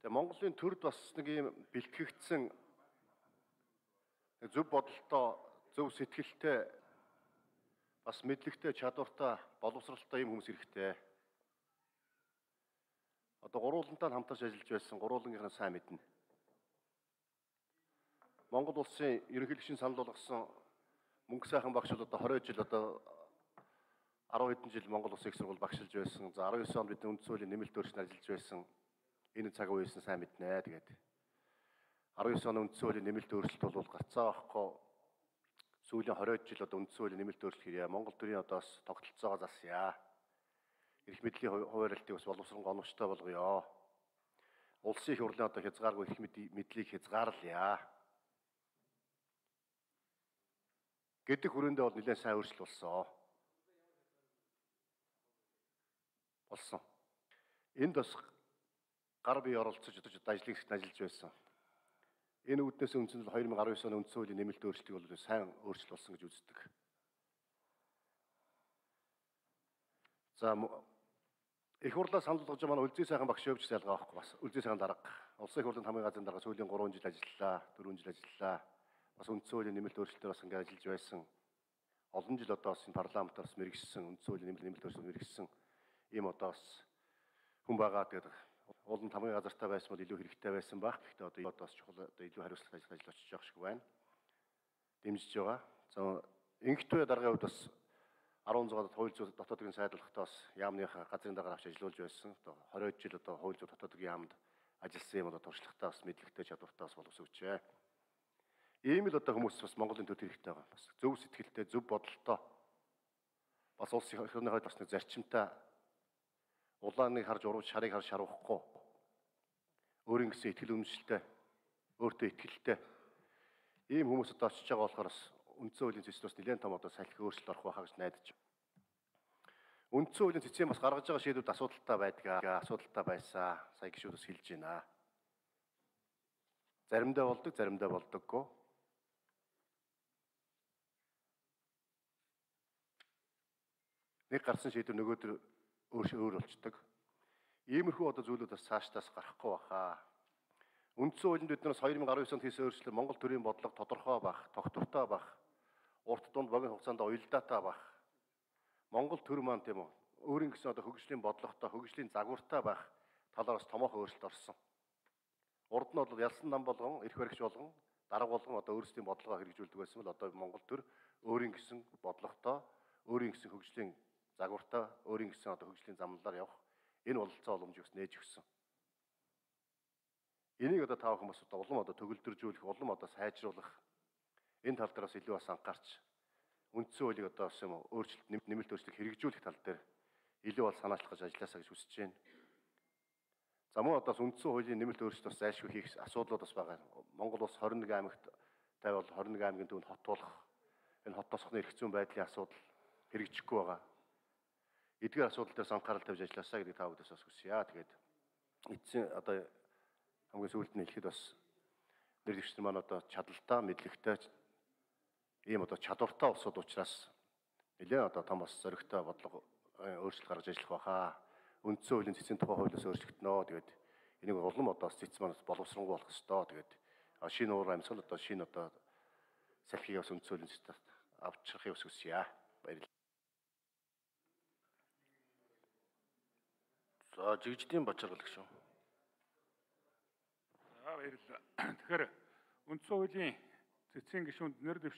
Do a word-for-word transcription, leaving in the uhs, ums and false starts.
Тэгээ Монголын төрд бас нэг юм бэлтгэгдсэн зөв бодолтой, зөв сэтгэлтэй, бас мэдлэгтэй, чадвартай, боловсралтай юм хүмүүс хэрэгтэй. Одоо гурвуулантай хамтарч ажиллаж байсан гурвуулангийнхаа сайн мэднэ. Монгол улсын ерөнхийлөгч санал болгосон мөнгө сайхан багш бол одоо хорин жил одоо арван хэдэн жил Монгол Улсын их сургууль багшилж байсан. За арван девять онд бидний үндэс хуулийн нэмэлт өөрчлөлт ажиллаж байсан. Энэ цаг үеэсэн сайн мэднэ. Тэгээд арван девять оны үндэс хуулийн нэмэлт өөрчлөлт бол гарцаа авахгүй сүүлийн хорин жил одоо үндэс хуулийн нэмэлт өөрчлөлт хийе. Монгол төрийн одоо бас тогтолцоогоо засъя. Эрх мэдлийн хуваарлтыг бас боловсрон гоногчтой болгоё. Улсын их хурлын одоо хязгааргүй эрх мэдлийг хязгаарлая гэдэг хүрээндээ бол нэлээд сайн өөрчлөлт болсон. Болсон. Энд бас гар бие оролцож одоо ажлын хэсэгт ажиллаж байсан. Энэ үүднээс үндсэндээ хоёр мың арван девять оны үндэс хуулийн нэмэлт өөрчлөлтийг бол сайн өөрчлөлт болсон гэж үздэг. За их хурлаа санал болгож манай Үлзий сайхан багш өвч ялгаа авахгүй бас Үлзий сайхан дарга. Улсын их хурлын хамгийн газрын дарга сүүлийн гурван жил ажиллалаа, дөрвөн жил ажиллалаа. Бас үндэс хуулийн нэмэлт өөрчлөлтөөр бас ингээд ажиллаж байсан. Олон жил одоо бас энэ парламентаар бас мэрэгссэн үндэс хуулийн нэмэлт нэмэлт өөрчлөлт мэрэгссэн ийм одоо бас хүн байгаа. Тэгээд уулын хамгийн газартай байсан бол илүү хэрэгтэй байсан баг. Гэхдээ одоо одоо бас чухал одоо илүү хариуцлага ажил ажил очиж явах шиг байна. Дэмжиж байгаа. За инхтвэ даргын хувьд бас арван зуун хууль зүйн дотоодын сайдлагтаа бас яамныхаа газрын дарга авч ажиллаж байсан. Одоо хорин жил одоо хууль зүйн дотоодын яамд ажилласан юм одоо туршлагатай бас мэдлэгтэй чадвартай бас боловсрогчээ. Ийм л одоо хүмүүс бас Монголын төр хэрэгтэй байгаа. Бас зөв сэтгэлтэй, зөв бодолтой. Бас улс их орныхоо бас нэг зарчимтай улааныг харж урууч шарыг харж шарвахгүй. Өөрийн гэсэн итгэл үнэмшилтэй, өөртөө итгэлтэй. Ийм хүмүүс одоо очиж байгаа болохоор бас үндсэн хуулийн цэцэд бас нэлээд том одоо салхи өөрчлөлт орох байхаа гэж найдаж байна. Үндсэн хуулийн цэцэн бас гаргаж байгаа шийдвүүд асуудалтай байдгаа, асуудалтай байсан. Сая гишүүд бас хэлж байна. Заримдаа болдог, заримдаа болдоггүй. Нэг гарсан шийдвэр нөгөөдөр өөр өөр болчдөг. Иймэрхүү одоо зүйлүүд бас цаашдаас гарахгүй баха. Үндсэн хуулинд бид нараас хоёр мың арван девять онд хийсэн өөрчлөлт Монгол төрийн бодлого тодорхой бах, тогтвортой бах, урт дунд богино хугацаанд уялдаатай бах. Монгол төр маань тийм үү? Өөрийн гэсэн одоо хөгжлийн бодлоготой, хөгжлийн загвартай бах талаар бас томоохон өөрчлөлт орсон. Урд нь бол ялсан нам болгон, эрх баригч болгон, дарга болгон одоо өөрсдийн бодлогоо хэрэгжүүлдэг байсан бол одоо Монгол төр өөрийн гэсэн бодлоготой, өөрийн гэсэн хөгжлийн загвартай, өөрийн гэсэн одоо хөгжлийн замналаар явах энэ бололцоо боломжийг нээж өгсөн. Энийг одоо тав хүмүүс одоо улам одоо төгөлдржүүлэх, улам одоо сайжруулах энэ тал дээр бас илүү бас анхаарч үндсэн хуулийг одоо бас юм өөрчлөлт нэмэлт өөрчлөлт хэрэгжүүлэх тал дээр илүү бол санаачлах гэж ажилласаа гэж хүсэж байна. За мөн одоо үндсэн хуулийн нэмэлт өөрчлөлт бас зайлшгүй хийх асуудлууд бас байгаа. Монгол улс хорин нэг аймагт тавил хорин нэг аймгийн төвөнд хот болох энэ хот тосхны эрх зүйн байдлын асуудал хэрэгжихгүй байгаа. Эдгээр асуудал дээр анхаарал тавьж ажилласаа гэдэг та бүдээс бас хүсье. Тэгээд эцсийн одоо хамгийн сүүлд нь хэлэхэд бас нэрвчнэр маань одоо чадaltaа, мэдлэгтэй ийм одоо чадвартай улсууд учраас нэлээд одоо том бас зоригтой бодлого өөрчлөлт гаргаж ажиллах байхаа. Үндсэн хуулийн цэцэн тухай хуулиас өөрчлөгдөнө. Тэгээд энийг улам одоо цэц маань боловсронгуй болох ёстой. Тэгээд шинэ уур амьсгал одоо шинэ одоо салхийг бас үндсэн хуулийн цэцэд авчрахыг бас хүсье. Баярлалаа. За жигждийн Бачаргал гүшүүн. За баярлалаа. Тэгэхээр үндсэн хуулийн цэцэн гишүүнд нэр дэвш